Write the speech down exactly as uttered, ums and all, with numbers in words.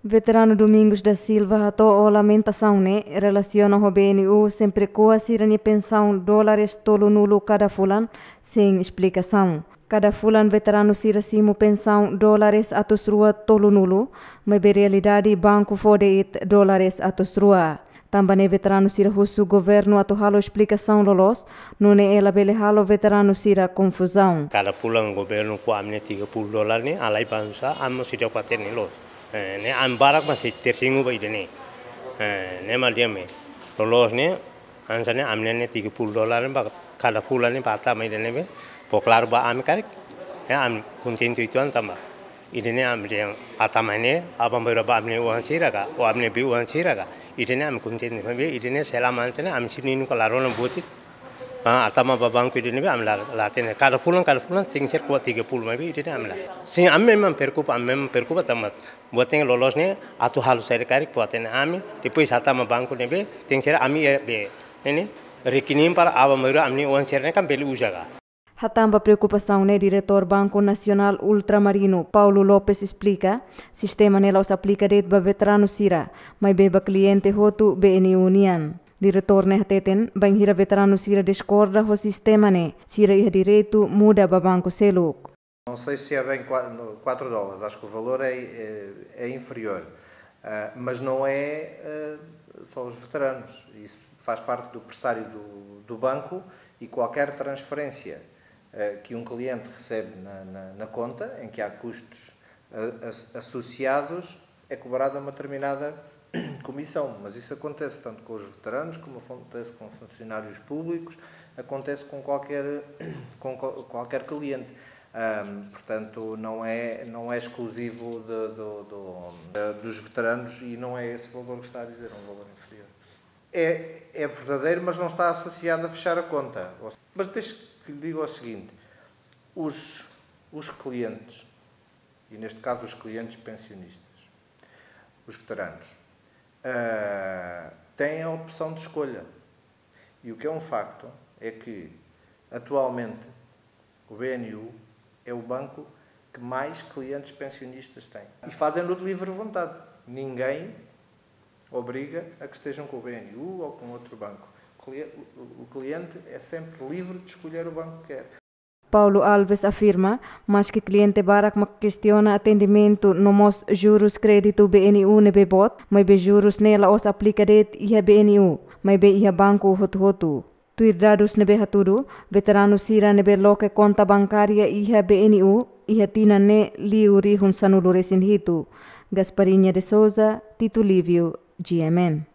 Veteranu Domingos da Silva hato'o lamentasaun ne'e relasiona ho B N U sempre ko'a sira-nia pensaun dólares tolunulu kada fulan, sein esplikasaun. Kada fulan veteranu sira simu pensaun dólares atus rua tolunulu, maibé realidade banku fó de'it dólares atus rua. Tanba ne'e veteranu sira husu governu atu halo esplikasaun loloos, nune'e labele halo veteranu sira konfuzaun. Kada fulan governu ko'a ami-nia tiga puluh dólar ne'e, alai bansa ami sida kuater ne'e loos. Eh, ne'e ami barak mak sei tersingu ba ida-ne'e. Eh, ne'e mak dehan ne'e. Loloos ne'e, hanesan ne'e ami-nia tiga puluh dólar ne'e ba kada fulan ne'e ba tama ida-ne'ebé. Fó klaru ba ami karik. Ya, ami kontente uitoan tanba ida-ne'e ami dehan hatama ne'e, aban-bainrua ba ami-nia oan sira ka, ou ami-nia bei-oan sira ka. Ida-ne'e ami kontente, maibé ida-ne'e selama hanesan ne'e ami sira-nia nunka la rona buat ida. Ah, hatama ba banku ida-ne'ebé ami la, la hatene. Kada fulan, kada fulan tenke ser ko'a tiga puluh, maibé ida-ne'e ami la. Sin, ami memang preokupa, ami memang preokupa tanba buat tenke loloos ne'e, atu halo saida karik fó hatene ami, depois hatama banku ne'ebé, tenke ser ami iha be, ne'e, rekening para aban-bainrua ami-nia oan sira ne'e kan bele uza ka. Hatán ba preokupasaun ne'e, Diretór Banku Nasionál Ultramarinu, Paulo Lopes, esplika, sistema ne'e la'ós aplika de'it ba veteranu sira, maibé ba kliente hotu B N U nian. Diretór ne'e hateten, bainhira veteranu sira diskorda ho sistema ne'e, sira iha direitu muda ba banku seluk. Não sei se é bem qua-, no, quatro dólares, acho que o valor é, é, é inferior. Ah, mas não é, ah, só os veteranos. Isso faz parte do pressário do, do banco e qualquer transferência, ah, que um cliente recebe na, na, na conta, em que há custos, ah, as-, associados, é cobrada uma determinada comissão. Mas isso acontece tanto com os veteranos, como acontece com funcionários públicos, acontece com qualquer, com qual-, qualquer cliente. Ahm, portanto, não é, não é exclusivo de, do, do, eh, dos veteranos e não é esse valor que está a dizer, é um valor inferior. É, é verdadeiro, mas não está associado a fechar a conta. Mas deixe que lhe diga o seguinte, os, os clientes, e neste caso os clientes pensionistas, os veteranos, ah, têm a opção de escolha. E o que é um facto é que, atualmente, o B N U é o banco que mais clientes pensionistas tem. E fazem-no de livre vontade. Ninguém obriga a que estejam com o B N U ou com outro banco. O cli-, o, o cliente é sempre livre de escolher o banco que quer. Paulo Alves afirma, maske kliente barak mak kestiona atendimentu no mós jurus kréditu B N U ne'ebé boot, maibé jurus ne'e la'ós aplika de'it iha B N U, maibé iha banku hotu-hotu. Tuir dadus ne'ebé hatudu, veteranu sira ne'ebé loke konta bankária iha B N U, iha tinan ne'e liu rihun sanulu-resin-hitu. Gasparinha de Souza, Tito Lívio, G M N.